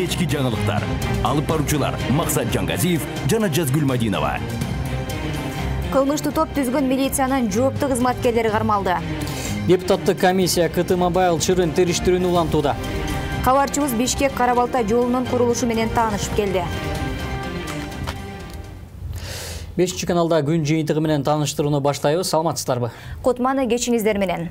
кечки жаңылыктар. Алып баруучулар Максат Жангазиев жана Жазгүл Мадинова. Кылмыштуу топ түзгөн милициянын жооптуу кызматкерлери кармалды. Депутаттык комиссия КТ Мобайл чырын териштирүүнү улантууда. Кабарчыбыз Бишкек Карабалта жолунун курулушу менен таанышып келди. 5-каналда күн жыйынтыгы менен тааныштырууну баштайбыз. Саламатсыздарбы? Котманы кечиңиздер менен.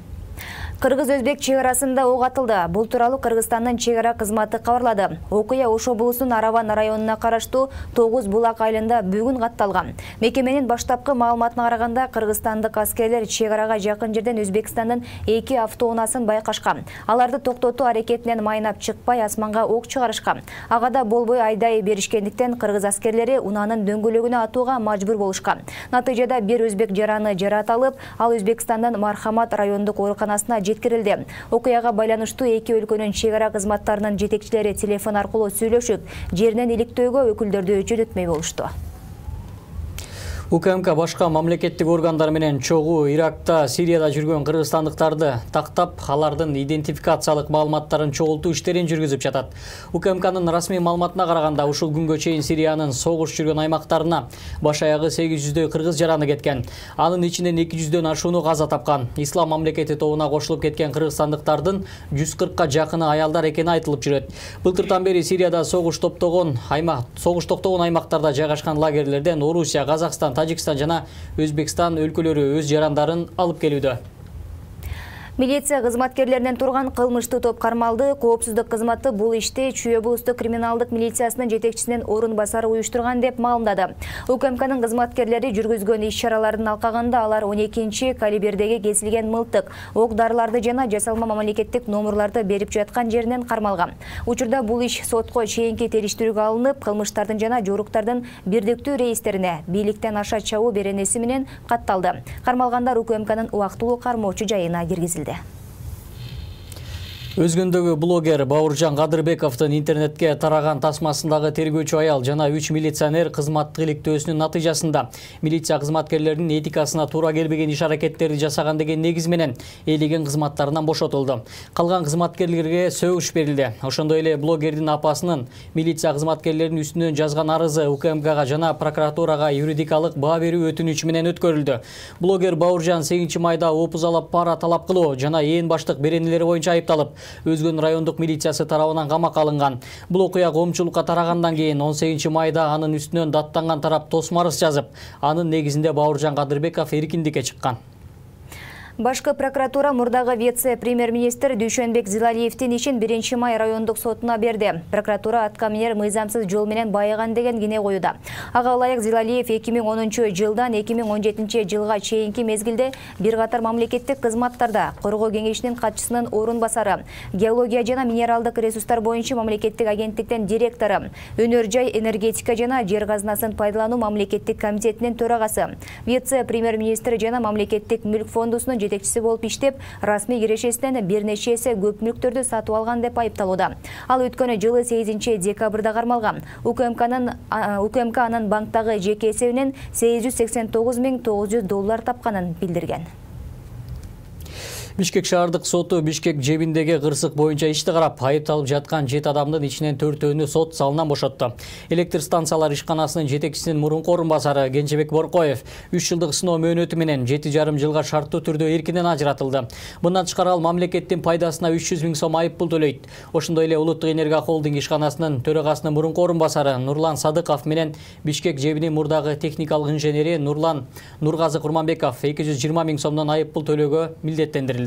Кыргыз-Өзбек чек арасында ок атылды. Бул тууралуу Кыргызстандын чек ара кызматы кабарлады. Окуя Ош облусунун Араван районуна караштуу 9 булак айылында бүгүн катталган. Мекеменин баштапкы маалыматына караганда, кыргызстандык аскерлер чек арага жакын жерден Өзбекстандын 2 автоунаасын байкашкан. Аларды токтотуу аракетинен майнап чыкпай асманга ок чыгарышкан. Агада болбой айдай беришкендиктен кыргыз аскерлери унаанын дөңгөлөгүнө атууга мажбур болушкан. Натыйжада бир өзбек жараны жаратылып, ал Өзбекстандын Мархамат райондук ооруканасына жеткирилди. Окуяга байланыштуу эки өлкөнүн чек ара кызматтарынын жетекчилери телефон аркылуу сүйлөшүп, жеринен иликтөөгө өкүлдөрдү жөнөтмөй болушту. УКМК башка мамлекеттик органдар менен чогуу Иракта, Сирияда жүргөн кыргызстандыктарды тактап, алардын идентификациялык маалыматтарын чогултуу иштерин жүргүзүп жатат. УКМКнын расмий маалыматына караганда, ушул күнгө чейин Сириянын согуш жүргөн аймактарына баш аягы 800дөй кыргыз жараны кеткен. Анын ичинен 200дөн ашууну каза тапкан. Ислам мамлекети тобуна кошулуп кеткен кыргызстандыктардын 140ка жакыны аялдар экени айтылып жүрөт. Былтыртан бери Сирияда согуш токтогон аймактарда жайгашкан лагерлерден Орусия, Казакстан, Тажикстан жана Өзбекстан өлкөлөрү өз жарандарын алып келүүдө. Милиция кызматкерлеринен турган кылмыштуу топ кармалды. Коопсуздук кызматы бул ишти Чүй облустук криминалдык милициясынын жетекчисинин орун басары уюштурган деп маалымдады. УКМКнын кызматкерлери жүргүзгөн иш-чаралардын алкагында алар 12 калибердеги кесилген мылтык, ок-дарыларды жана жасалма мамлекеттик номурларды берип жаткан жеринен кармалган. Учурда бул иш сотко чейинки териштирүүгө алынып, кылмыштардын жана жоруктардын бирдиктүү рейстерине бийликтен аша чабуу беренеси менен катталды. Кармалгандар УКМКнын убактылуу кармоочу жайына киргизилди. Өзгөндөгү блогер Бауыржан Кадырбековдун интернетке тараган тасмасындагы тергөөчү аял жана 3 милиционер кызматтык иликтөөсүнүн натыйжасында милиция кызматкерлеринин этикасына туура келбеген иш-аракеттерди жасаган деген негиз менен ээлеген кызматтарынан бошотулду. Калган кызматкерлерге сөгүш берилди. Ошондой эле блогердин апасынын милиция кызматкерлеринин үстүнөн жазган арызы УКМКга жана прокуратурага юридикалык баа берүү өтүнүчү менен өткөрүлдү. Блогер Бауыржан 8 майда опузалап пара талап кылуу жана ээн баштык беренелери боюнча айыпталып, Өзгөн райондук милициясы тарабынан камакка алынган. Бул окуя коомчулукка тарагандан кийин 18 майда анын үстүнөн даттанган тарап тосмо арыз жазып, анын негизинде Бауыржан Кадырбеков эркиндикке чыккан. Башкы прокуратура мурдагы вице-премьер-министр Дүйшөнбек Зилалиевдин ишин 1 май райондук сотуна берди. Прокуратура аткаминер мыйзамсыз жол менен байыган деген кине коюуда. Ага ылайык Зилалиев 2010-жылдан 2017 чейинки мезгилде бир катар мамлекеттик кызматтарда Коргоо кеңешинин катчысынын орун басары, геология жана минералдык ресурстар боюнча мамлекеттик агенттиктен директору, өнөр жай, энергетика жана жер казынасын пайдалануу мамлекеттик комитетинин төрагасы, вице-премьер-министр жана мамлекеттик мүлк фондусунун жетекчиси болуп иштеп, расмий кирешесинен бир нече эсе көп мүлктөрдү сатып алган деп айыпталууда. Ал өткөн жылы 8 декабрда кармалган. УКМК анын банктагы жеке эсебинен $889.900 тапканын билдирген. Бишкек шаардык соту Бишкек жебиндеги кырсык боюнча ишти карап, айыпталып жаткан 7 адамдын ичинен 4-өөнү сот залынан бошотту. Электр станциялар ишканасынын жетекчисинин мурунку орун басары Кенжебек Боркоев 3 жылдык сыноо мөөнөтү менен 7,5 жылга шарттуу түрдө эркинен ажыратылды. Мындан тышкары ал мамлекеттин пайдасына 300 000 сом айыппул төлөйт. Ошондой эле Улуттук энергия холдинг ишканасынын төрагасынын мурунку орун басары Нурлан Садыков менен Бишкек жебинин мурдагы техникалык инженери Нургазы Курманбеков 220 000 сомдон айыппул төлөөгө милдеттендирилди.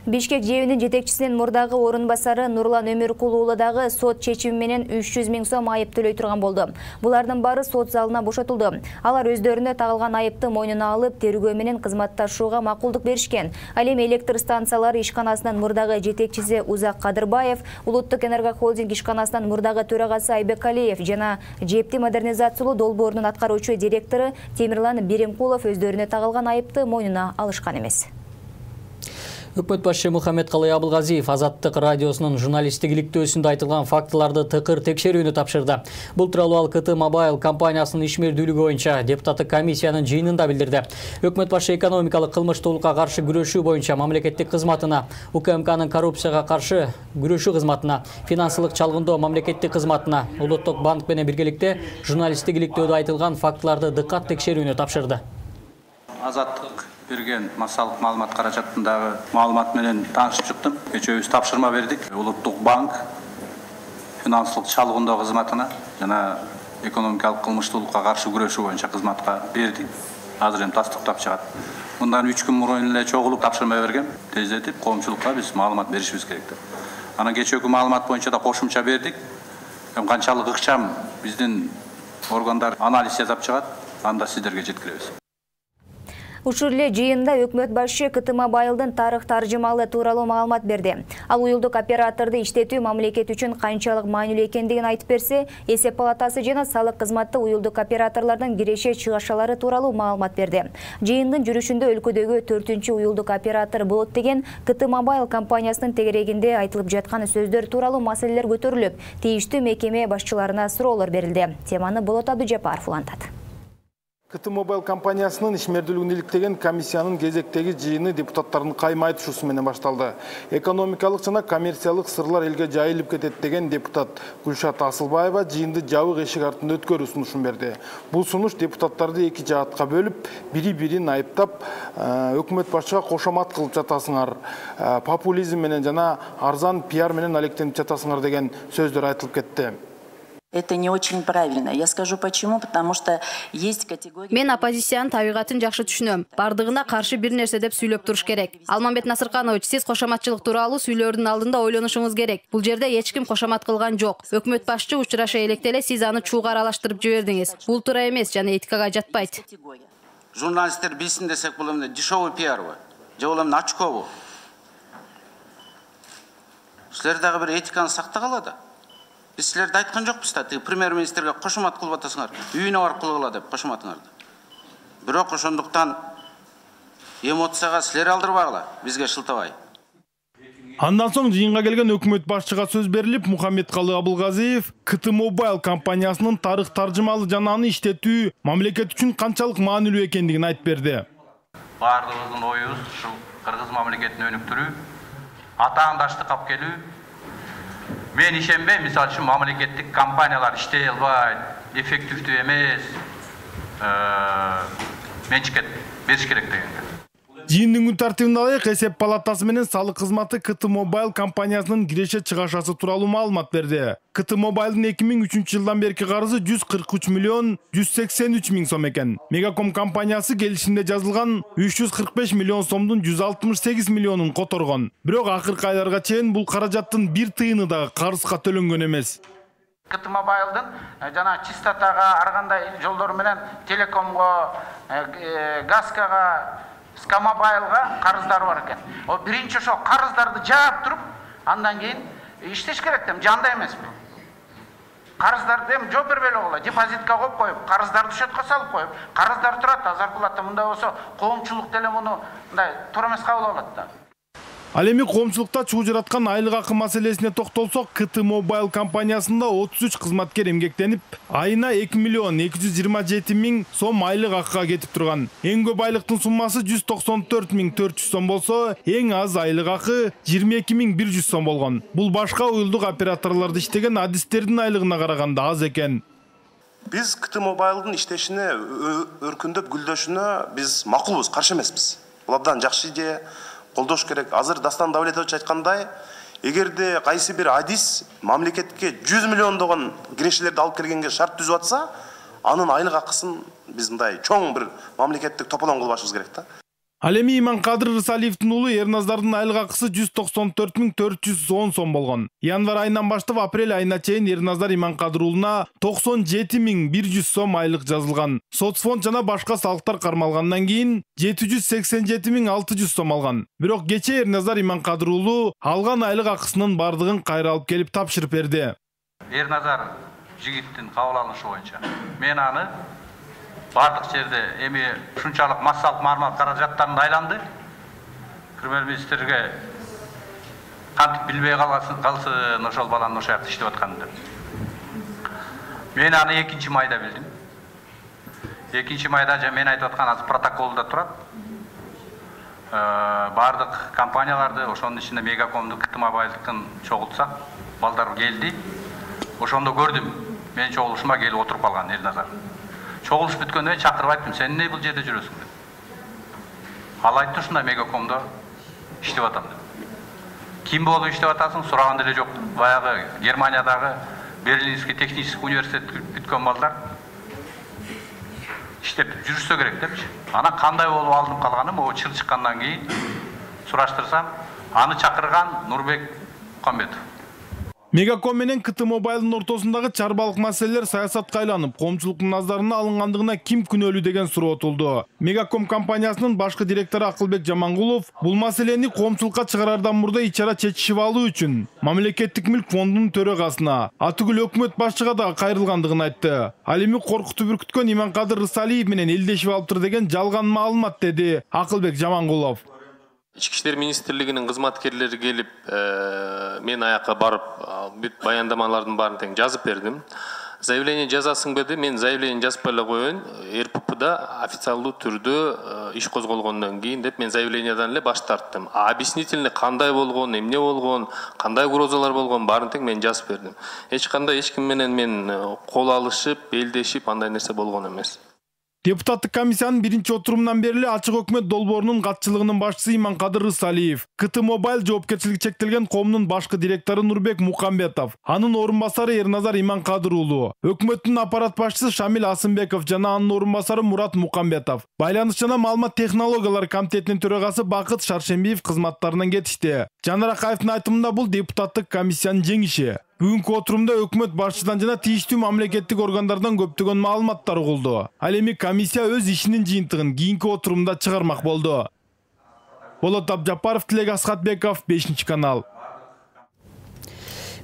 Бишкек жебинин жетекчисинин мурдагы орун басары Нурлан Өмүркулуулу дагы сот чечими менен 300 000 сом айып төлөй турган болду. Булардын баары сот залына бошотулду. Алар өздөрүнө тагылган айыпты мойнуна алып, тергөө менен кызматташууга макулдук беришкен. Ал эми электр станциялары ишканасынын мурдагы жетекчиси Узак Кадырбаев, Улуттук энергия холдинг ишканасынын мурдагы төрагасы Айбек Алиев жана жепти модернизациялоо долбоорунун аткаруучу директору Темирлан Беремкулов өздөрүнө тагылган айыпты мойнуна алышкан эмес. Өкмөт башчы Мухаммедкалый Абылгазиев Азаттык радиосунун журналисттик иликтөөсүндө айтылган фактыларды тыкыр текшерүүнү тапшырды. Бул тууралуу ал КТ Мобайл компаниясынын ишмердүүлүгү боюнча депутаттык комиссиянын жыйынында билдирди. Өкмөт башчы экономикалык кылмыштуулукка каршы күрөшүү боюнча мамлекеттик кызматына, УКМКнын коррупцияга каршы күрөшүү кызматына, финансылык чалгындоо мамлекеттик кызматына, Улуттук банк менен биргеликте журналисттик иликтөөдө айтылган фактыларды дыккат текшерүүнү тапшырды. Азаттык берген массалык маалымат каражатындагы маалымат менен таанышып чыктым. Кечээ тапшырма бердик. Улуттук банк финансылык чалгындоо кызматына жана экономикалык кылмыштуулукка каршы күрөшүү боюнча кызматка бердик. Азыр эми тастыктап чыгат. Мындан 3 күн мурун эле чогулуп тапшырма бергем. Тездетип коомчулукка биз маалымат беришибиз керек деп. Анан кечээкү маалымат боюнча да кошумча бердик. Канчалык ыкчам биздин органдар анализ жасап чыгат, анда сиздерге жеткиребиз. Ушул эле жыйында өкмөт башчы КТ Мобайлдын тарых таржымалы тууралуу маалымат берди. Ал уюлдук операторду иштетүү мамлекет үчүн канчалык маанилүү экендигин айтып берсе, эсеп палатасы жана салык кызматы уюлдук операторлордун киреше чыгашалары тууралуу маалымат берди. Жыйындын жүрүшүндө өлкөдөгү 4-чү уюлдук оператор болот деген КТ Мобайл компаниясынын тегерегинде айтылып жаткан сөздөр тууралуу маселелер көтөрүлүп, тийиштүү мекеме башчыларына суроолор берилди. Теманы Болот Абдыжапаров улантат. КТ Мобайл компаниясынын ишмердүүлүгүн иликтеген комиссиянын кезектеги жыйыны депутаттардын кайма айтышуусу менен башталды. Экономикалык жана коммерциялык сырлар элге жайылып кетет деген депутат Гүлшат Асылбаева жыйынды жабык эшик артында өткөрүү сунушун берди. Бул сунуш депутаттарды эки жаатка бөлүп, бири-бирин айыптап, өкмөт башчыга кошомат кылып жатасыңар, популизм менен жана арзан пиар менен алектенип жатасыңар деген сөздөр айтылып кетти. Это не очень правильно. Я скажу почему, потому что есть категория... Мен оппозициянын табигатын жакшы түшүнөм. Бардыгына каршы бир нерсе деп сүйлөп туруш керек. Алмамбет Насырканович, сиз кошоматчылык тууралуу сүйлөөрдүн алдында ойлонушуңуз керек. Бул жерде эч ким кошомат кылган жок. Өкмөт башчы учураша электе эле сиз аны чууга аралаштырып жибердиңиз. Бул туура эмес жана этикага жатпайт. Журналисттер билсин десек, бул эмне дешевый пиарбы? Же бул эмне очкобу? Силер дагы бир этиканы сактагыла да. Biz sizlerде айткан жокпуз да, премьер-министрге кошомат кылып атасыңар, үйүнө барып кылгыла деп кошоматыңарды. Бирок ошондуктан эмоцияга силер алдырбагыла, бизге шылтабай. Андан соң жыйынга келген өкмөт башчыга сөз берилип, Мухаммедкалый Абылгазиев КТ Мобайл компаниясынын тарых таржымалы жана аны иштетүү мамлекет үчүн канчалык маанилүү экендигин айтып берди. Бардыгыбыздын оюбуз ушул Кыргыз мамлекетин өнүктүрүү, атаандаштык алып келүү. Мен ишенбейм, мисалы үчүн мамлекеттик компаниялар иштей албайт, эффективдүү эмес, менчикет бериш керек дегенге. Жыйындын күн тартибинде алайык, эсеп палатасы менен салык кызматы КТ Мобайл компаниясынын киреше чыгашасы тууралуу маалымат берди. КТ Мобайлдын 2003 жылдан берки карызы 143 миллион 183 миң сом экен. Мегаком компаниясы келишимде жазылган 345 миллион сомдун 168 миллионун которгон. Бирок акыркы айларга чейин бул каражаттын бир тыйыны дагы карызга төлөнгөн эмес. КТ Мобайлдын жана чистотага, ар кандай жолдор менен телекомго, газкага, Скамобайлга карыздары бар экен. О биринчи ошо карыздарды жаап туруп, андан кийин иштеш керек дем, жанда эмеспи. Карыздарды эми жооп бербей эле койгула, депозитка коюп, карыздарды счетко салып коюп, карыздар турат, зарплата мындай болсо, коомчулук деле муну мындай туура эмес кабыл алат да. Ал эми коомчулукта чуу жараткан айлык акы маселесине токтолсок, КТ Мобайл компаниясында 33 кызматкер эмгектенип, айына 2 миллион 227 миң сом айлык акыга кетип турган. Эң көп айлыктын суммасы 194 миң 400 сом болсо, эң аз айлык акы 22 миң 100 сом болгон. Бул башка уюлдук операторлордо иштеген адистердин айлыгына караганда аз экен. Биз КТ Мобайлдын иштешине, өркүндөп гүлдөшүнө биз макулбуз, каршы эмеспиз. Бул абдан жакшы идея. Колдош керек. Азыр Дастан Давлетович айткандай, эгерде кайсы бир адис мамлекетке 100 миллиондогон кирешелерди алып келгенге шарт түзүп атса, анын айлык акысын биз мындай чоң бир мамлекеттик тополон кылбашыбыз керек да. Ал эми Иманкадыр Рысалиевдин уулу Эрназдардын айлык акысы 194 миң 410 сом болгон. Январь айынан баштап апрель айына чейин Эрназдар Иманкадыр уулуна 97 миң 100 сом айлык жазылган. Соцфонд жана башка салыктар кармалгандан кийин 787 миң 600 сом алган. Бирок кечээ Эрназдар Иманкадыр уулу алган айлык акысынын бардыгын кайра алып келип тапшырып берди. Эрназар жигиттин кабыл алышы боюнча мен аны бардык жерде эми ушунчалык массалык маалымат каражаттарында айланды. премьер-министрге кантип билбей калсын ошол баланын ошол жакта иштеп атканын деп. Мен аны 2 майда билдим. 2 майда мен айтып аткан азыр протоколдо турат. Бардык компанияларды, ошонун ичинде Мегакомду, КТ Мобайлдыкын чогултсак, балдар келди. Ошондо көрдүм. Мен чогулушума келип отуруп калган Элназар. Чогулуш бүткөндө чакырып айттым, сен эмне бул жерде жүрөсүң деп. Ал айтты, ушундай Мегакомдо иштеп атам деп. Ким болуп иштеп атасың? Сураган деле жок. Баягы Германиядагы Берлинский технический университет бүткөн балдар иштеп жүрүшсө керек депчи. Ана кандай болуп алынып калганын могу чыл чыккандан кийин сураштырсам, аны чакырган Нурбек Мукамбетов. Мегаком менен КТ Мобайлдын ортосундагы чарбалык маселелер саясатка айланып, коомчулуктун назарына алынгандыгына ким күнөөлүү деген суроо отулду. Мегаком компаниясынын башкы директору Акылбек Жамангулов бул маселени коомчулукка чыгарардан мурда ичара чечишип алуу үчүн Мамлекеттик мүлк фондунун төрагасына, атүгүл өкмөт башчыга да кайрылгандыгын айтты. Ал эми коркутуп үркүткөн Иманкадыр Рысалиев менен элдешип алыптыр деген жалган маалымат, деди Акылбек Жамангулов. Ички иштер министрлигинин кызматкерлери келип, мен аяка барып, бүт баяндамалардын баарын тең жазып бердим. Заявление жазасың беди, мен заявление жазып эле коеюн, РППда официалдуу түрдө иш козголгондон кийин деп мен заявлениедан эле баш тарттым. Объяснительный кандай болгон, эмне болгон, кандай угрозалар болгон баарын тең мен жазып бердим. Эч кандай эч ким менен мен кол алышып, белдешип, андай нерсе болгон эмес. Депутаттык комиссиянын 1-отурумунан бери ачык өкмөт долбоорунун катчылыгынын башчысы Иманкадыр Рысалиев, КТ Мобайл жоопкерчилиги чектелген коомдун башкы директору Нурбек Мукамбетов, анын орун басары Эрназар Иманкадыр уулу, өкмөттүн аппарат башчысы Шамил Асымбеков жана анын орун басары Мурат Мукамбетов, байланыш жана маалымат технологиялары комитетинин төрагасы Бакыт Шаршембиев кызматтарынан кетишти. Жанар Акаевдин айтымында бул депутаттык комиссиянын жеңиши. Бүгүнкү отурумда өкмөт башчыдан жана тийиштүү мамлекеттик органдардан көптөгөн маалыматтар угулду. Ал эми комиссия өз ишинин жыйынтыгын кийинки отурумда чыгармак болду. Болот Абжапаров, Тилек Асхатбеков, 5-канал.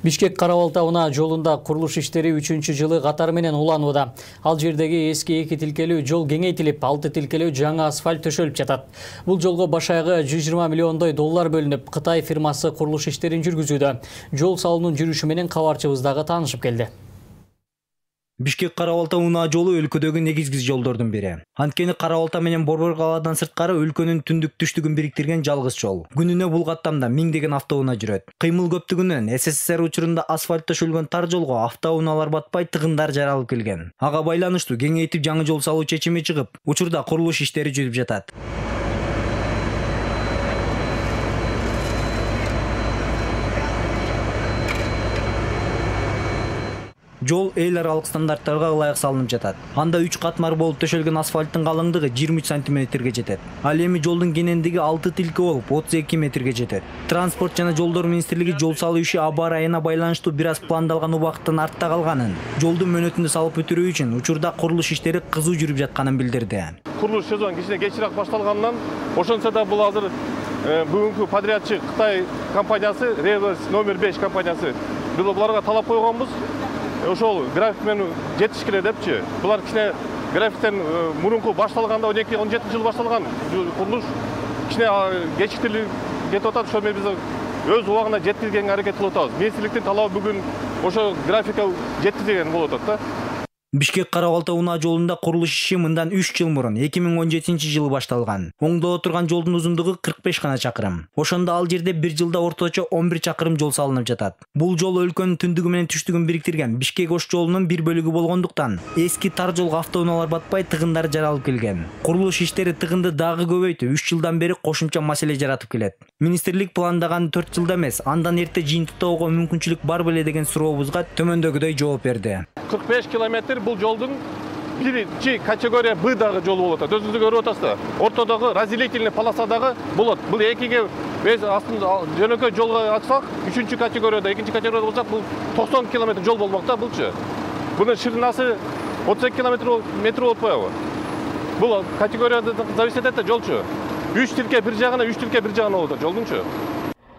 Бишкек Кара-Балта унаа жолунда курулуш иштери 3-жылы катары менен уланууда. Ал жердеги эски 2 тилкелүү жол кеңейтилип, 6 тилкелүү жаңы асфальт төшөлүп жатат. Бул жолго баш аягы 120 миллиондой доллар бөлүнүп, Кытай фирмасы курулуш иштерин жүргүзүүдө. Жол салуунун жүрүшү менен кабарчыбыз дагы таанышып келди. Бишкек Кара-Балта унаа жолу өлкөдөгү негизги жолдордун бири. Анткени Кара-Балта менен Борбор калаадан сырткары өлкөнүн түндүк түштүгүн бириктирген жалгыз жол. Күнүнө бул каттамда миңдеген автоунаа жүрөт. Кыймыл көптүгүнөн СССР учурунда асфальт төшөлгөн тар жолго автоунаалар батпай, тыгындар жаралып келген. Ага байланыштуу кеңейтип жаңы жол салуу чечими чыгып, учурда курулуш иштери жүрүп жатат. Жол эл аралык стандарттарга ылайык салынып жатат. Анда 3 катмар болуп төшөлгөн асфальттын калыңдыгы 23 сантиметрге жетет. Ал эми жолдун кенендиги 6 тилке болуп 32 метрге жетет. Транспорт жана жолдор министрлиги жол салуу иши аба ырайына байланыштуу бир аз пландалган убакыттын артта калганын, жолдун мөөнөтүндө салып бүтүрүү үчүн учурда курулуш иштери кызуу жүрүп жатканын билдирди. Курулуш сезон кичине кечирээк башталганынан, ошончо да бул азыр бүгүнкү подрядчы Кытай компаниясы, Реверс номер 5 компаниясы. Бул буларга талап койгонбуз. Ошол график менен жетиш керек депчи. Булар кичине графиктен мурунку башталганда 12-17 жыл башталган курулуш кичине кечиктирип кетип атат. Ошо биз өз убагында жеткиргенге аракет кылып атабыз. Министрликтин талабы бүгүн ошо графикка жеткирген болуп атат да. Бишкек Кара-Балта унаа жолунда курулуш иши мындан 3 жыл мурун 2017-жылы башталган. Оңдо турган жолдун узундугу 45 гана чакырым. Ошондо ал жерде бир жылда орточо 11 чакырым жол салынып жатат. Бул жол өлкөнүн түндүгү менен түштүгүн бириктирген Бишкек Ош жолунун бир бөлүгү болгондуктан, эски тар жолго автоунаалар батпай, тыгындар жаралып келген. Курулуш иштери тыгынды дагы көбөйтүп, 3 жылдан бери кошумча маселе жаратып келет. Министрлик пландаган 4 жылда эмес, андан эрте жыйынтыктоого мүмкүнчүлүк бар беле деген сурообузга төмөндөгүдөй жооп берди. 45 километр бул жолдун биринчи категория Б дагы жол болот. Өзүңүз көрүп атасыздар. Ортодогу разделительный полосадагы болот. Бул экиге астында жөнөкөй жолго ачсак, 3-чү категорияда, 2-чи категорияда болсак, бул 90 километр жол болмок да булчу. Бунун ширинасы 32 метр болуп коебу. Бул категорияда зависит этет жолчу. 3 тилке бир жагына, 3 тилке бир жагына болот жолдунчу.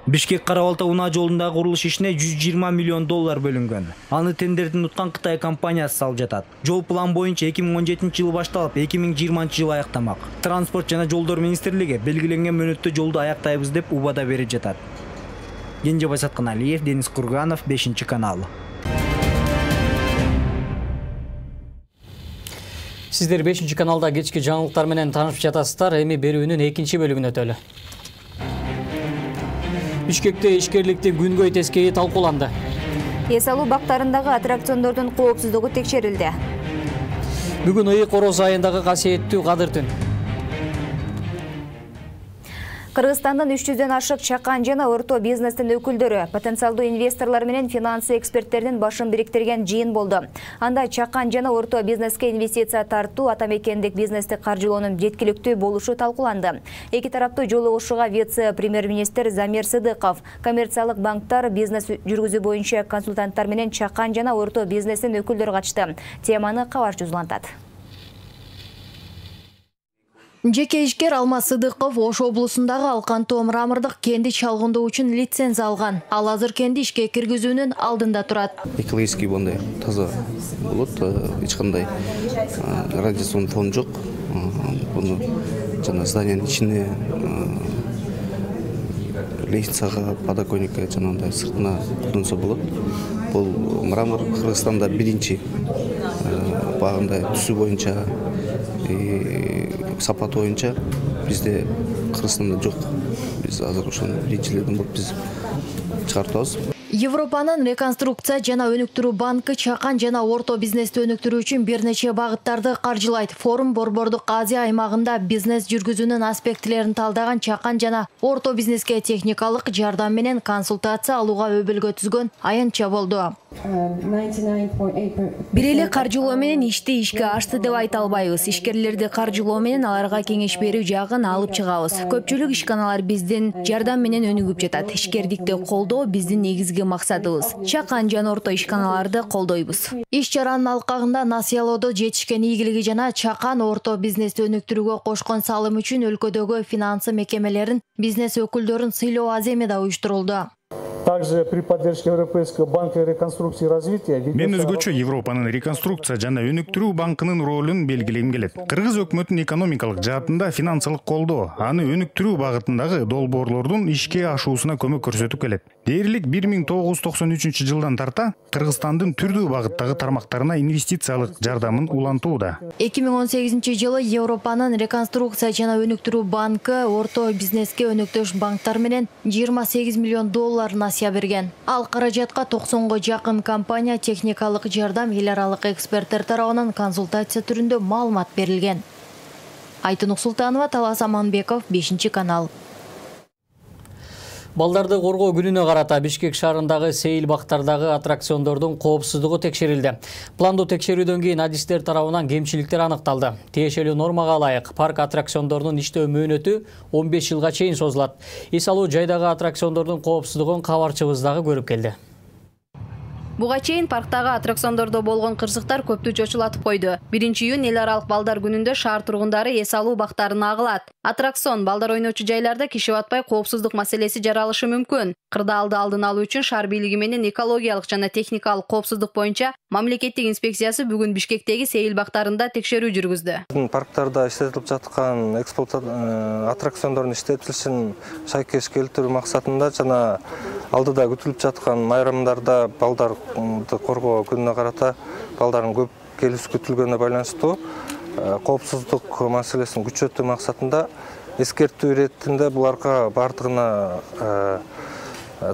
Бишкек-Кара Балта унаа жолундагы курулуш ишине 120 миллион доллар бөлүнгөн. Аны тендердин уткан Кытай компаниясы салып жатат. Жол план боюнча 2017-жылы башталып, 2020-жылы аяктамак. Транспорт жана жолдор министрлиги белгиленген мөөнөттө жолду аяктайбыз деп убада берип жатат. Кенжебай Сатканалиев, Денис Курганов, 5-канал. Сиздер 5-каналда кечки жаңылыктар менен таанышып жатасыздар. Эми берүүнүн 2 бөлүгүнө өтөлү. Бишкекте ишкерликтин күнгөй тескейи талкууланды. Эс алуу бактарындагы аттракциондордун коопсуздугу текшерилди. Бүгүн Ыйык Ороз айындагы касиеттүү Кадыр түн. Кыргызстандын 300дөн ашык чакан жана орто бизнестин өкүлдөрү, потенциалдуу инвесторлор менен финансы эксперттердин башын бириктирген жыйын болду. Анда чакан жана орто бизнеске инвестиция тартуу, атамекендик бизнести каржылоонун жеткиликтүү болушу талкууланды. Эки тараптуу жолугушууга вице-премьер-министр Замир Сыдыков, коммерциялык банктар, бизнес жүргүзүү боюнча консультанттар менен чакан жана орто бизнестин өкүлдөрү катышты. Теманы кабарчы узулантат. Жеке ишкер Алмаз Сыдыков Ош облусундагы Алкантоо мрамордук кенди чалгындоо үчүн лицензия алган. Ал азыр кенди ишке киргизүүнүн алдында турат. Экологический мындай таза болот, эч кандай радиационный фон жок. Буну жана зданиянын ичине лестницага, подоконникке жанагындай сыртына колдонсо болот. Бул мрамор Кыргызстанда биринчи багында түсү боюнча сапаты боюнча бизде Кыргызстанда жок. Биз азыр ошону биринчилерден болуп биз чыгартабыз. Европанын реконструкция жана өнүктүрүү банкы чакан жана орто бизнести өнүктүрүү үчүн бир нече багыттарды каржылайт. Форум Борбордук Азия аймагында бизнес жүргүзүүнүн аспектилерин талдаган чакан жана орто бизнеске техникалык жардам менен консультация алууга өбөлгө түзгөн аянтча болду. Бир эле каржылоо менен ишти ишке ашты деп айта албайбыз. Ишкерлерди каржылоо менен аларга кеңеш берүү жагын алып чыгабыз. Көпчүлүк ишканалар биздин жардам менен өнүгүп жатат. Ишкердикти колдоо биздин негизги максатыбыз. Чакан жана орто ишканаларды колдойбуз. Иш чаранын алкагында насыялоодо жетишкен ийгилиги жана чакан орто бизнести өнүктүрүүгө кошкон салым үчүн өлкөдөгү финансы мекемелерин, бизнес өкүлдөрүн сыйлоо аземи да уюштурулду. Также при поддержке Европейского банка реконструкции и развития. Мен өзгөчө Европанын реконструкция жана өнүктүрүү банкынын ролун белгилегим келет. Кыргыз өкмөтүнүн экономикалык жаатында финансылык колдоо, аны өнүктүрүү багытындагы долбоорлордун ишке ашуусуна көмөк көрсөтүп келет. Дээрлик 1993-жылдан тарта Кыргызстандын түрдүү багыттагы тармактарына инвестициялык жардамын улантууда. 2018-жылы Европанын реконструкция жана өнүктүрүү банкы орто бизнеске өнөктөш банктар менен 28 миллион доллар насыя берген. Ал каражатка 90го жакын компания техникалык жардам, эл аралык эксперттер тарабынан консультация түрүндө маалымат берилген. Айтын Султанова, Талас Аманбеков, 5-канал. Балдарды коргоо күнүнө карата Бишкек шаарындагы сейил бактардагы аттракциондордун коопсуздугу текшерилди. Пландуу текшерүүдөн кийин адистер тарабынан кемчиликтер аныкталды. Тиешелүү нормага ылайык парк аттракциондорунун иштөө мөөнөтү 15 жылга чейин созулат. Эс алуу жайдагы аттракциондордун коопсуздугун кабарчыбыз дагы көрүп келди. Буга чейин парктагы аттракциондордо болгон кырсыктар көптү чочулатып койду. 1-июнь эл аралык балдар күнүндө шаар тургундары эс алуу бактарына агылат. Аттракцион балдар ойночу жайларда киши батпай коопсуздук маселеси жаралышы мүмкүн. Кырдаалды алдын алуу үчүн шаар бийлиги менен экологиялык жана техникалык коопсуздук боюнча мамлекеттик инспекциясы бүгүн Бишкектеги сейил бактарында текшерүү жүргүздү. Парктарда иштетилип жаткан аттракциондордун иштетилишин шайкеш келтирүү максатында жана алдыда күтүлүп жаткан майрамдарда балдар коргоо күнүнө карата балдардын көп келүүсү күтүлгөнүнө байланыштуу коопсуздук маселесин күчөтүү максатында эскертүү иретинде буларга бардыгына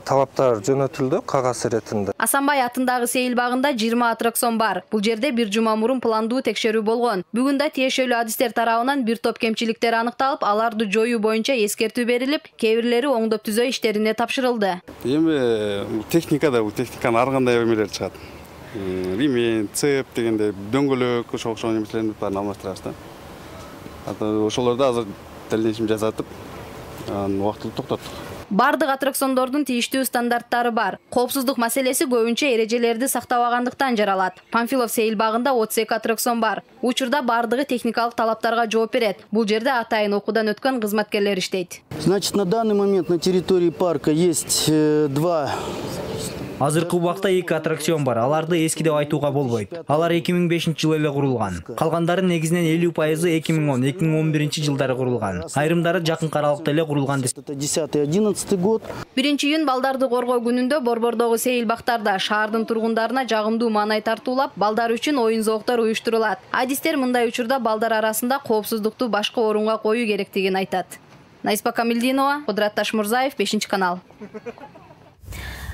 талаптар жөнөтүлдү кагаз иретинде. Асанбай атындагы сейил багында 20 аттракцион бар. Бул жерде бир жума мурун пландуу текшерүү болгон. Бүгүн да тиешелүү адистер тарабынан бир топ кемчиликтер аныкталып, аларды жоюу боюнча эскертүү берилип, кээ бирлери оңдоп түзөө иштерине тапшырылды. Эми техникада бул техниканын ар кандай эмелери чыгат. Ремень, цеп дегенде дөңгөлөк ошол нерселердин баарын алмаштырабыз да. Ошолорду азыр дальнейшем жасатып, убактылуу токтоттук. Бардык аттракциондордун тийиштүү стандарттары бар. Коопсуздук маселеси көбүнчө эрежелерди сактабагандыктан жаралат. Панфилов сейил багында 32 аттракцион бар. Учурда бардыгы техникалык талаптарга жооп берет. Бул жерде атайын окуудан өткөн кызматкерлер иштейт. Значит, на данный момент на территории парка есть 2. Азыркы убакта 2 аттракцион бар. Аларды эски деп айтууга болбойт. Алар 2005-жылы эле курулган. Калгандары негизинен 50% 2010-2011 жылдары курулган. Айрымдары жакынкы аралыкта эле курулган. 10-11 год. 1-июнь балдарды коргоо күнүндө Борбордогу сейил бактарда шаардын тургундарына жагымдуу маанай тартуулап, балдар үчүн оюн зооктор уюштурулат. Адистер мындай учурда балдар арасында коопсуздукту башка орунга коюу керектигин айтат. Найспа Камилдинова, Кудрат Ташмурзаев, 5-канал.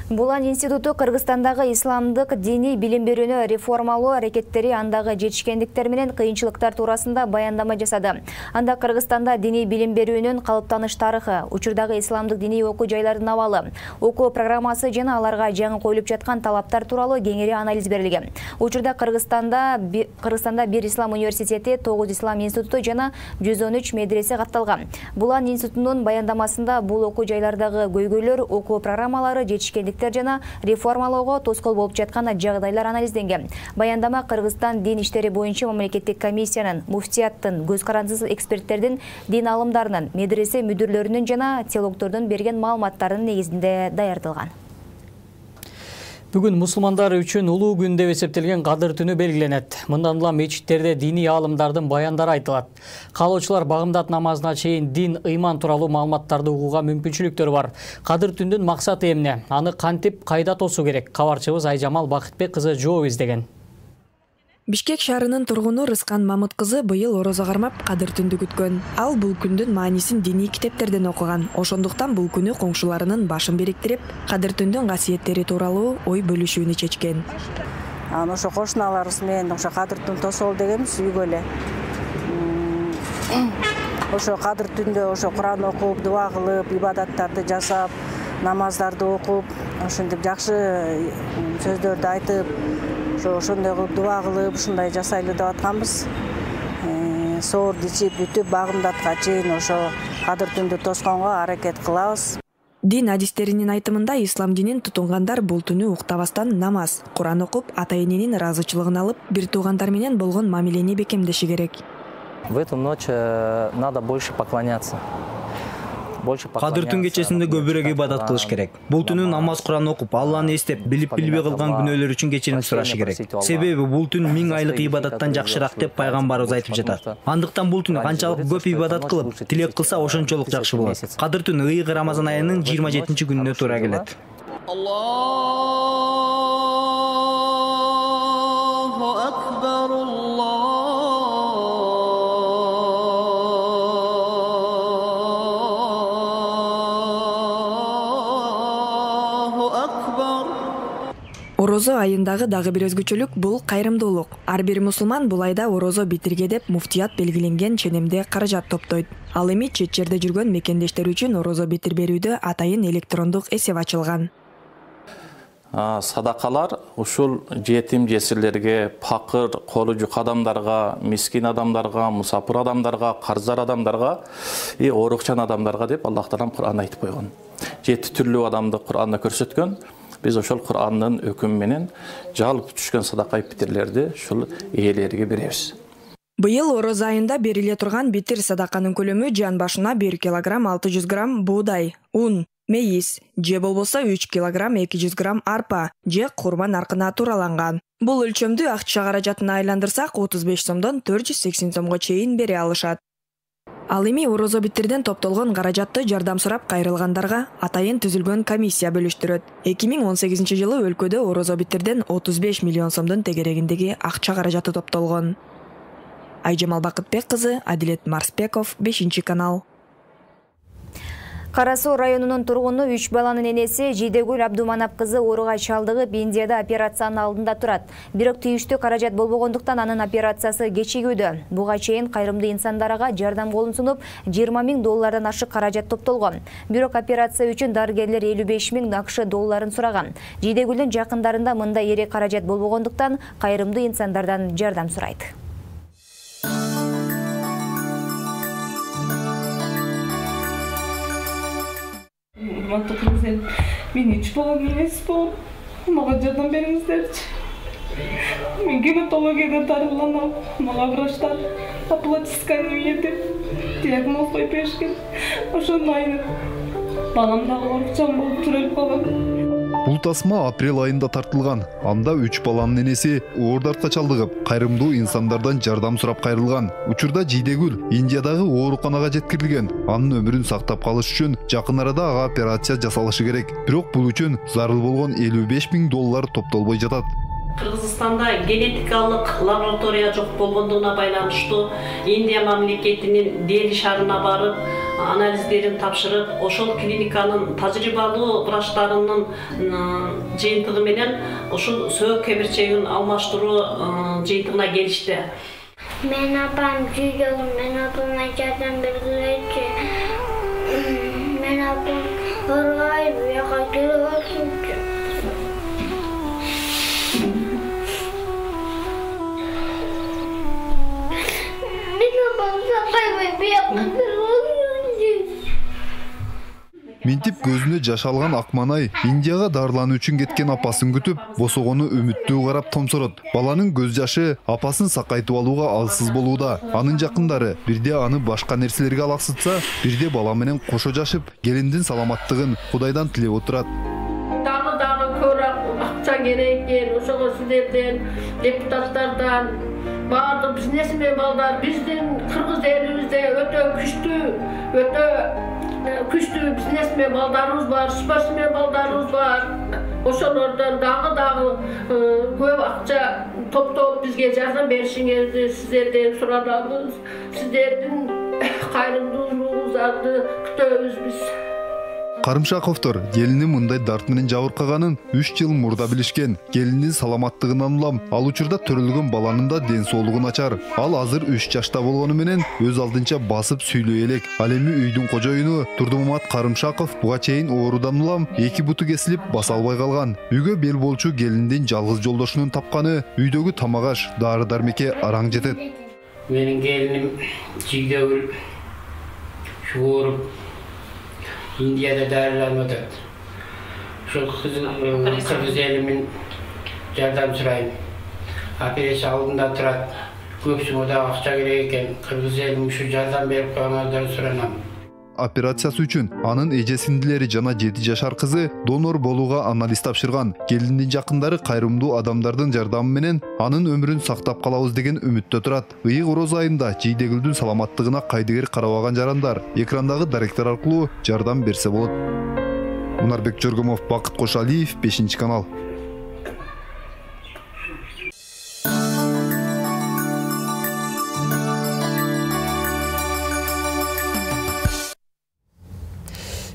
Булан институту Кыргызстандагы исламдык диний билим берүүнү реформалоо аракеттери андагы жетишкендиктер менен кыйынчылыктар туурасында баяндама жасады. Анда Кыргызстанда диний билим берүүнүн калыптаныш тарыхы, учурдагы исламдык диний окуу жайлардын абалы, окуу программасы жана аларга жаңы коюлуп жаткан талаптар тууралуу кеңири анализ берилген. Учурда Кыргызстанда бир ислам университети, 9 ислам институту жана 113 медресе катталган. Булан институтунун баяндамасында бул окуу жайлардагы көйгөйлөр, окуу программалары, жетишкендик жана реформалоого тоскоол болуп жаткан жагдайлар анализденген. Баяндама Кыргызстан дин иштери боюнча мамлекеттик комиссиянын, муфтияттын, көз карандысыз эксперттердин, дин алымдарынын, медресе мүдүрлөрүнүн жана теологдордун берген маалыматтарынын негизинде даярдалган. Бүгүн мусулмандар үчүн улуу күн деп эсептелген Кадыр түнү белгиленет. Мындан улам мечиттерде диний аалымдардын баяндары айтылат. Каалоочулар багымдат намазына чейин дин, ыйман тууралуу маалыматтарды угууга мүмкүнчүлүктөр бар. Кадыр түндүн максаты эмне? Аны кантип, кайда тосуу керек? Кабарчыбыз Айжамал Бакытбек кызы жооп издеген. Бишкек шаарынын тургуну Рыскан Мамыт кызы быйыл орозо кармап Кадыр түндү күткөн. Ал бул күндүн маанисин диний китептерден окуган. Ошондуктан бул күнү коңшуларынын башын бириктирип, Кадыр түндүн касиеттери тууралуу ой бөлүшүүнү чечкен. Ошо кошуналарыбыз менен ошо Кадыр түн тосол дегенбиз үйгө эле. Ошо Кадыр түндө ошо Куран окуп, дуа кылып, ибадаттарды жасап, намаздарды окуп, ошентип жакшы сөздөрдү айтып, ошондой кылып дуа кылып, ушундай жасайлы деп атканбыз. Соорду ичип бүтүп багымдатка чейин ошо Кадыр түндү тосконго аракет кылабыз. Дин адистеринин айтымында ислам динин тутунгандар бул түнү уктабастан намаз, Куран окуп, ата-эненин ыраазычылыгын алып, бир туугандар менен болгон мамилени бекемдеши керек. В эту ночь надо больше поклоняться. Кадыр түн кечесинде көбүрөөк ибадат кылыш керек. Бул түнү намаз, Куран окуп, Алланы эстеп, билип-билбей кылган күнөөлөр үчүн кечирим сурашы керек. Себеби бул түн 1000 айлык ибадаттан жакшыраак деп пайгамбарыбыз айтып жатат. Андыктан бул түнү канчалык көп ибадат кылып, тилек кылса ошончолук жакшы болот. Кадыр түн ыйык Рамазан айынын 27-күнүнө туура келет. Орозо айындагы дагы бир өзгөчөлүк бул кайрымдуулук. Ар бир мусулман бул айда орозо битирге деп муфтият белгиленген ченемде каражат топтойт. Ал эми чет жерде жүргөн мекендештер үчүн орозо битир берүүдө атайын электрондук эсеп ачылган. Садакалар ушул жетим жесирлерге, пакыр, колу жук адамдарга, мискин адамдарга, мусапыр адамдарга, карыздар адамдарга, оорукчан адамдарга деп Аллах Таалам Кур'анда айтып койгон. 7 түрлүү адамды Кур'анда көрсөткөн. Биз ошол Кур'андын өкүмү менен жалпы түшкөн садака битирлерди ушул ээлерге беребиз. Быйыл орозо айында бериле турган битир садаканын көлөмү жан башына 1 килограмм 600 грамм буудай, ун, мейиз, же болбосо 3 килограмм 200 грамм арпа, же курбан аркына туураланган. Бул өлчөмдү акча каражатына айландырсак 35 сомдон 480 сомго чейин бере алышат. Ал эми орозо битирден топтолгон каражатты жардам сурап кайрылгандарга атайын түзүлгөн комиссия бөлүштүрөт. 2018-жылы өлкөдө орозо битирден 35 миллион сомдун тегерегиндеги акча каражаты топтолгон. Айжамал Бакытбек кызы, Адилет Марспеков, 5-канал. Кара Суу районунун тургуну 3 баланын энеси Жидегүл Абдуманап кызы ооруга чалдыгып Индияда операциянын алдында турат. Бирок тийиштүү каражат болбогондуктан анын операциясы кечигүүдө. Буга чейин кайрымдуу инсандарга жардам колун сунуп, $20,000 ашык каражат топтолгон. Бирок операция үчүн дарыгерлер $55,000 сураган. Жидегүлдүн жакындарында мындай эре каражат болбогондуктан кайрымдуу инсандардан жардам сурайт. урматтуу кыргыз эл. Мен 3 балам эмесмин. Мага жардам бериңиздерчи. Мен гематологиядан дарыланам. Мага врачтар оплатисканы берди. Диагноз коюп беришкен. Ошондон айнып балам дагы оорукчан болуп төрөлүп калган. Бул тасма апрель айында тартылган. Анда 3 баланын энеси оордартка чалдыгып, кайрымдуу инсандардан жардам сурап кайрылган. Учурда Жийдегүл Индиядагы ооруканага жеткирилген. Анын өмүрүн сактап калыш үчүн жакын арада ага операция жасалышы керек. Бирок бул үчүн зарыл болгон $55,000 топтолбой жатат. Кыргызстанда генетикалык лаборатория жок болгондугуна байланыштуу Индия мамлекетинин Дели шаарына барып, анализдерин тапшырып, ошол клиниканын тажрыйбалуу врачтарынын жыйынтыгы менен ушул сөөк кемирчегин алмаштыруу жыйынтыгына келишти. Мен апам жүйдөгүн, мен апама жардам бергилечи. Мен апам ыргай бияка келип атчу. Минтип көзүнө жаш алган Акманай Индияга дарылануу үчүн кеткен апасын күтүп, босогону үмүттүү карап томсорот. Баланын көз жашы апасын сакайтып алууга алсыз болууда. Анын жакындары бирде аны башка нерселерге алаксытса, бирде бала менен кошо жашып, келиндин саламаттыгын Кудайдан тилеп отурат. Дагы көрөк акча керек экен, ошого сиздерден, депутаттардан баардык бизнесмен балдар биздин кыргыз элибизде өтө күчтүү бизнесмен балдарыбыз бар, спортсмен балдарыбыз бар. Ошолордон дагы көп акча топтоп бизге жардам беришиңерди сиздерден суранабыз. Сиздердин кайрымдуулугуңуздарды күтөбүз биз. Карымшаковдор келини мындай дарт менен жабыркаганын 3 жыл мурда билишкен. Келинин саламаттыгынан улам, ал учурда төрөлгөн баланын да ден соолугу начар. Ал азыр 3 жашта болгону менен өз алдынча басып сүйлөй элек. Ал эми үйдүн кожоюну Турдумамат Карымшаков буга чейин оорудан улам 2 буту кесилип баса албай калган. Үйгө бел болчу келиндин жалгыз жолдошунун тапканы үйдөгү тамак-аш, дары-дармекке араң жетет. Менин келиним Жийдегүл ооруп Индияда дарыланып атат. Ошол кыргыз элимин жардам сурайм. Операция алдында турат. Көпсүңө да акча керек экен. Кыргыз элим ушу жардам берип коюңуздар суранам. Операциясы үчүн анын эже-сиңдилери жана 7 жашар кызы донор болууга анализ тапшырган. Келиндин жакындары кайрымдуу адамдардын жардамы менен анын өмүрүн сактап калабыз деген үмүттө турат. Ыйык ороз айында Жийдегүлдүн саламаттыгына кайдыгер карабаган жарандар экрандагы даректер аркылуу жардам берсе болот. Мунарбек Жоргомов, Бакыт Кошалиев, 5-канал.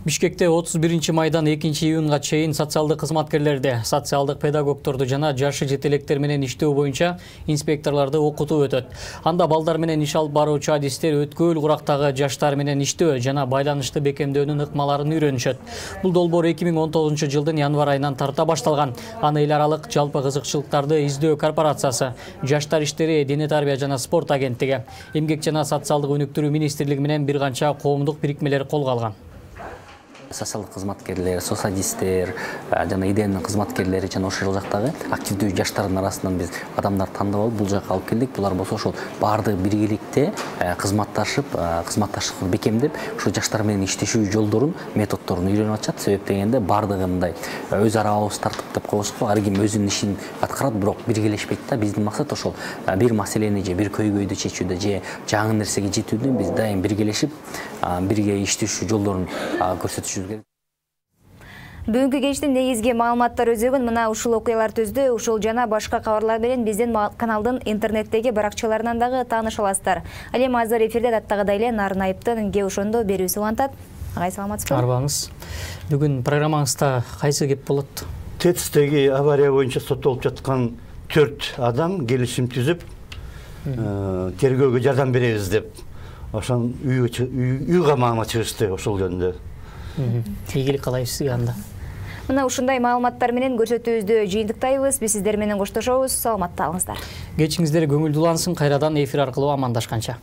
Бишкекте 31 майдан 2 июнга чейин социалдык кызматкерлерди, социалдык педагогторду жана жашы жетелектер менен иштөө боюнча инспекторлорду окутуу өтөт. Анда балдар менен иш алып баруучу адистер өткөл курактагы жаштар менен иштөө жана байланышты бекемдөөнүн ыкмаларын үйрөнүшөт. Бул долбоор 2019 жылдын январь айынан тарта башталган. Аны эл аралык жалпы кызыкчылыктарды издөө корпорациясы, Жаштар иштери, дене тарбия жана спорт агенттиги, Эмгек жана социалдык өнүктүрүү министрлиги менен бир канча коомдук бирикмелер колго алган. Социалдык кызматкерлер, соцадистер жана ИДНдин кызматкерлери жана ошол жактагы активдүү жаштардын арасынан биз адамдар тандап алып бул жакка алып келдик. Булар болсо ошол баардыгы биргеликте кызматташтыкты бекемдеп, ошол жаштар менен иштешүү жолдорун, методдорун үйрөнүп атышат. Себеп дегенде баардыгындай өз ара абыз тартып коебузго, ар ким өзүнүн ишин аткарат, бирок биргелешпейт да. Биздин максат ошол бир маселени же бир көйгөйдү чечүүдө же жаңы нерсеге жетүүдө биз дайым биргелешип, бирге иштешүү жолдорун көрсөтүшүбүз. Бүгүнкү кечтин негизги маалыматтар өзөгүн мына ушул окуялар түздү. Ушул жана башка кабарлар менен биздин каналдын интернеттеги баракчаларынан дагы тааныша аласыздар. Ал эми азыр эфирде даттагыдай эле Нарын Айыптын ге ошондо берүүсү улантат. Агай саламатсызбы? Арбаңыз. Бүгүн программаңызда кайсы кеп болот? ТЭЦтеги авария боюнча соттолуп жаткан 4 адам келишим түзүп, тергөөгө жардам беребиз деп, ошон үй камагына чыгышты ошол жөнүндө. Ийгилик каалайбыз сизге анда. Мына ушундай маалыматтар менен көрсөтүүбүздү жыйынтыктайбыз. Биз сиздер менен коштошобуз. Саламатта калыңыздар. Кечиңиздер көңүлдүү улансын. Кайрадан эфир аркылуу амандашканча.